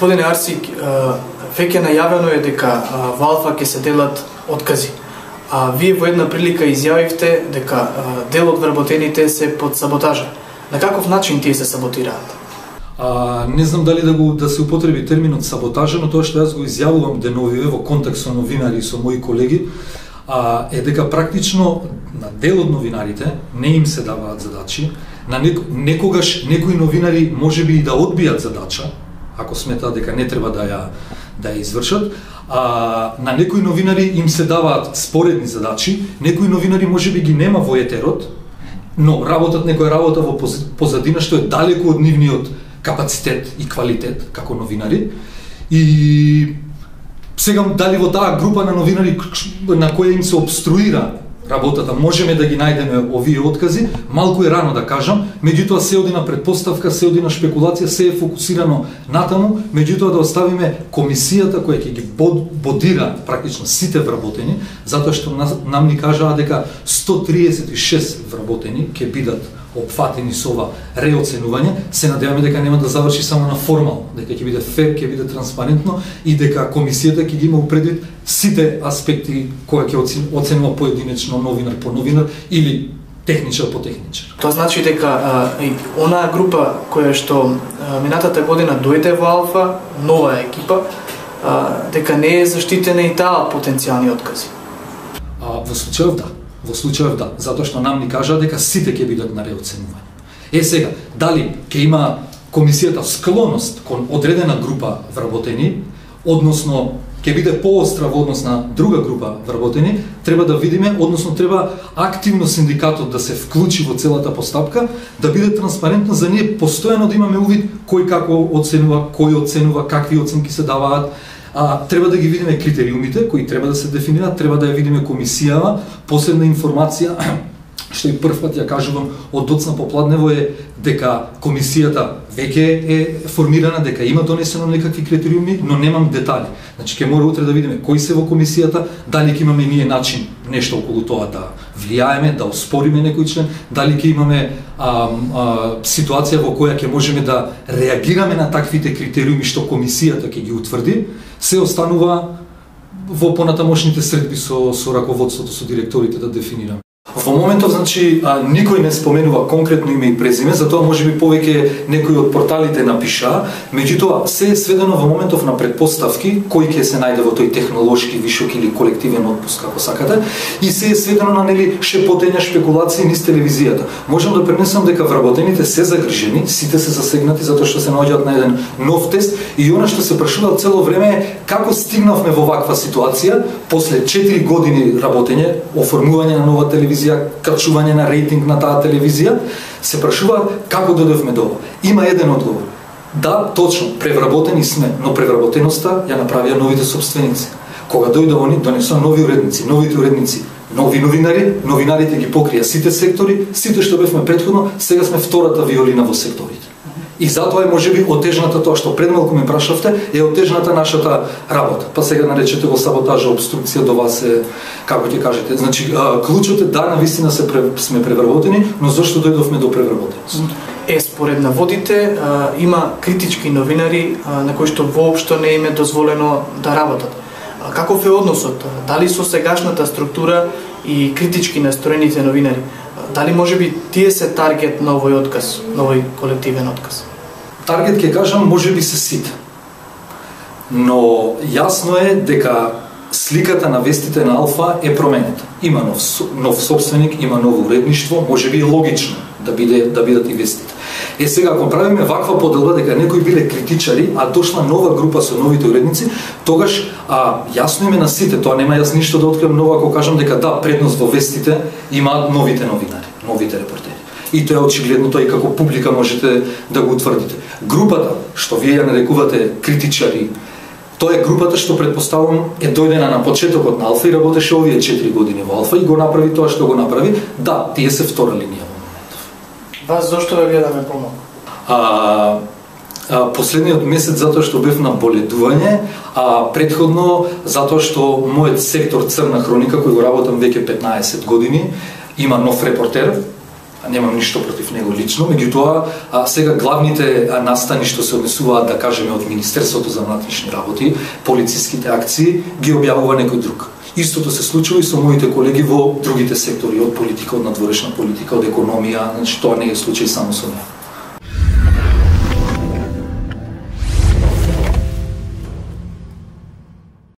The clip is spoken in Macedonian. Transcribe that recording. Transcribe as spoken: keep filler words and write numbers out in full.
Господине Арси, веќе најавено е дека во Алфа ќе се делат откази. А вие во една прилика изјавивте дека дел од вработените се под саботажа. На каков начин тие се саботираат? А, не знам дали да го да се употреби терминот саботажа, но тоа што јас го изјавувам деновиве во контекст со новинари и со мои колеги, а, е дека практично на дел од новинарите не им се даваат задачи, на нек, некогаш некои новинари можеби и да одбијат задача, ако сметаат дека не треба да ја да ја извршат, а на некои новинари им се даваат споредни задачи, некои новинари можеби ги нема во етерот, но работат некоја работа во позадина што е далеку од нивниот капацитет и квалитет како новинари. И сега дали во таа група на новинари на која им се обструира работата можеме да ги најдеме овие откази, малку е рано да кажам, меѓутоа се оди на предпоставка, се оди на шпекулација, се е фокусирано натаму, меѓутоа да оставиме комисијата која ќе ги бодира практично сите вработени, затоа што нам ни кажаа дека сто триесет и шест вработени ќе бидат опфатени со ова реоценување, се надеваме дека нема да заврши само на формално, дека ќе биде фер, ќе биде транспарентно и дека комисијата ќе ги има предвид сите аспекти кои ќе оценува поединечно новинар по новинар или техничар по техничар. Тоа значи дека а, онаа група која што а, минатата година дојде во Алфа, нова екипа, а, дека не е заштитена и таа потенцијални откази. А, во случајов да. Во случајов да, затоа што нам ни кажа дека сите ќе бидат на реоценување. Е сега, дали ќе има комисијата склоност кон одредена група вработени, односно ќе биде поостра во однос на друга група вработени, треба да видиме, односно треба активно синдикатот да се вклучи во целата постапка, да биде транспарентно за ние постојано да имаме увид кој како оценува, кој оценува, какви оценки се даваат. А, треба да ги видиме критериумите кои треба да се дефинираат, треба да ја видиме комисијава. Последна информација што и прв пат ја кажувам од доцна попладнево е дека комисијата веќе е формирана, дека има донесено некакви критериуми, но немам детали. Значи ќе мора утре да видиме кои се во комисијата, дали ќе имаме ние начин нешто околу тоа да влијаеме, да оспориме некој член, дали ќе имаме а, а, ситуација во која ќе можеме да реагираме на таквите критериуми што комисијата ќе ги утврди. Се останува во понатамошните средби со, со раководството, со директорите да дефинираме. Во моментов, значи, а, никој не споменува конкретно име и презиме, затоа можеби повеќе некои од порталите напиша, меѓутоа се е сведено во моментов на предпоставки кој ќе се најде во тој технолошки вишок или колективен отпуск, како сакате, и се е сведено на нели шепотења, шпекулации низ телевизијата. Можам да пренесам дека вработените се загрижени, сите се засегнати затоа што се наоѓаат на еден нов тест и она што се прашува цело време е како стигнавме во ваква ситуација после четири години работење, оформување на нова телевизија, качување на рейтинг на таа телевизија, се прашуваат како дојдовме до ова. Има еден одговор. Да, точно, превработени сме, но превработеноста ја направија новите собственици. Кога дојде они, донесоа нови уредници, новите уредници, нови новинари, новинарите ги покрија сите сектори, сите што бевме претходно, сега сме втората виолина во секторите. И затоа е можеби отежната тоа што пред малку ме прашавте, е отежната нашата работа. Па сега наречете го саботажа, обструкција, до вас е, како ќе кажете. Значи, клучот е да, навистина се сме превработени, но зашто дојдовме до превработеност? Е, според наводите, а, има критички новинари а, на кои што воопшто не им е дозволено да работат. А, каков е односот? Дали со сегашната структура и критички настроените новинари, дали можеби тие се таргет на овој отказ, на овој колективен отказ? Таргет ќе кажам можеби се сите. Но јасно е дека сликата на вестите на Алфа е променета. Има нов, нов собственик, има ново уредништво, можеби е логично да биде да бидат и вестите. Е сега ако правиме ваква поделба дека некои биле критичари, а дошла нова група со новите уредници, тогаш а, јасно име на сите, тоа нема јас ништо да откриам ново ако кажам дека да, предност во вестите имаат новите новинари, новите репортери. И тоа е очигледно, тоа и како публика можете да го утврдите. Групата што вие ја нарекувате критичари, тоа е групата што предпоставувам е дојдена на почетокот на Алфа и работеше овие четири години во Алфа и го направи тоа што го направи. Да, тие се втора линија. Вас зошто ве гледаме помалку? А, а, последниот месец затоа што бев на боледување, а претходно затоа што мојот сектор Црна хроника, кој го работам веќе петнаесет години, има нов репортер, немам ништо против него лично, меѓутоа сега главните настани што се однесуваат, да кажеме, од Министерството за внатрешни работи, полициските акции ги објавува некој друг. Истото се случува и со моите колеги во другите сектори, од политика, од надворешна политика, од економија, значи тоа не е случај само со мене.